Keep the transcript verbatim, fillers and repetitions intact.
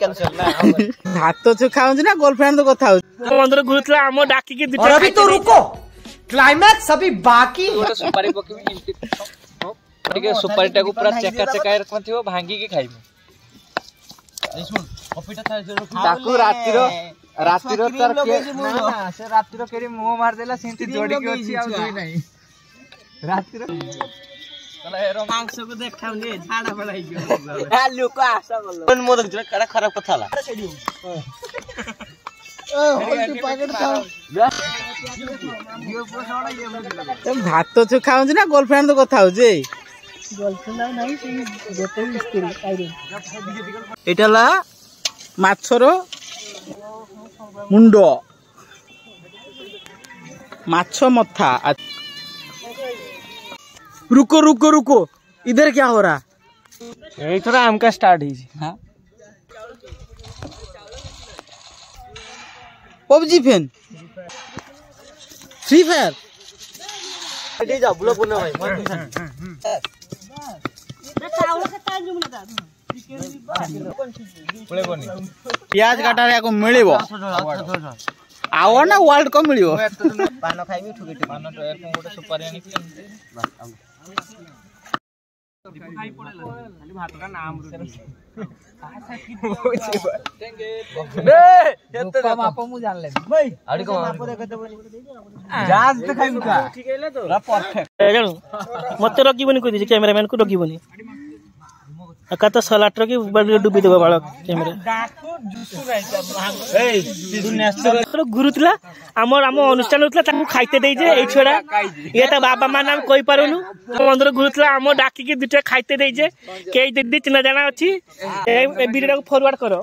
Cancel ନା। ଭାତ ଖାଉଛି ନା ଗର୍ଲଫ୍ରେଣ୍ଡ ତ କଥା ହଉଛି? ମନ୍ଦିର ଘୁରୁଥିଲା, ଆମ ଡାକିକି और अभी तो रुको, क्लाइमैक्स अभी बाकी है। ଗୋଟେ ସୁପାରି ପକେଇବି ଏମିତି ଟିକେ, ସୁପାରିଟାକୁ ପୁରା ଚେକା ଚେକା ରଖିଥିବ, ଭାଙ୍ଗିକି ଖାଇବି ତାକୁ। ରାତିର ରାତିର ତାର ନା, ସେ ରାତିର କେରି ମୁହଁ ମାରିଦେଲା, ସେମିତି ଯୋଡିକି ଅଛି, ଆଉ ଦୁଇ ନାହିଁ ରାତିର। ମାଂସକୁ ଦେଖାଉନି, ଝାଡା ଫାଡା ହେଇଯିବ ଲୋକ ଆଶା କଲ। ମୁଁ ଦେଖୁଛି କେଡା ଖରାପ କଥା ହେଲା। ଭାତ ଖାଉଛି ନା ଗର୍ଲଫ୍ରେଣ୍ଡ ତ କଥା ହଉଛି? ଏଇଟା ହେଲା ମାଛର ମୁଣ୍ଡ, ମାଛ ମଥା। रुको रुको रुको, इधर क्या हो रहा? ଏଇଥର ଆମକା ଷ୍ଟାର୍ଟ ହେଇଛି। ହଁ, PUBG fan, free fire. ପିଆଜ କାଟାରେ ୟାକୁ ମିଳିବ ଆଉ ନା ୱାର୍ଲଡ କପ୍ ମିଳିବ। ପାନ ଖାଇବି ଠୁକି, ପାନ ଗୋଟେ ସୁପାରି ଆଣିକି ମାପ ମୁଁ ଜାଣିଲେନି। ମତେ ରଖିବନି କହିଦେଇଛି, କ୍ୟାମେରାମ୍ୟାନ କୁ ରଖିବନି। ଏକା ତ ସଲାଟ ରଖି ଡୁବି ଦେବ ବାଳ କ୍ୟାମେରା। ଗୁରୁ ଥିଲା ଆମର, ଆମ ଅନୁଷ୍ଠାନ ଥିଲା, ତାକୁ ଖାଇତେ ଦେଇଛେ ଏଇ ଛୁଆଟା। ଇଏ ତା ବାବା ମା ନାମ କହିପାରୁନୁ। ମନ୍ଦିର ଗୁରୁ ଥିଲା, ଆମ ଡାକିକି ଦୁଇଟା ଖାଇତେ ଦେଇଛେ। କେହି ଦିଦି ଚିହ୍ନା ଜାଣା ଅଛି, ଏ ଭିଡିଓଟାକୁ ଫରୱାର୍ଡ କର।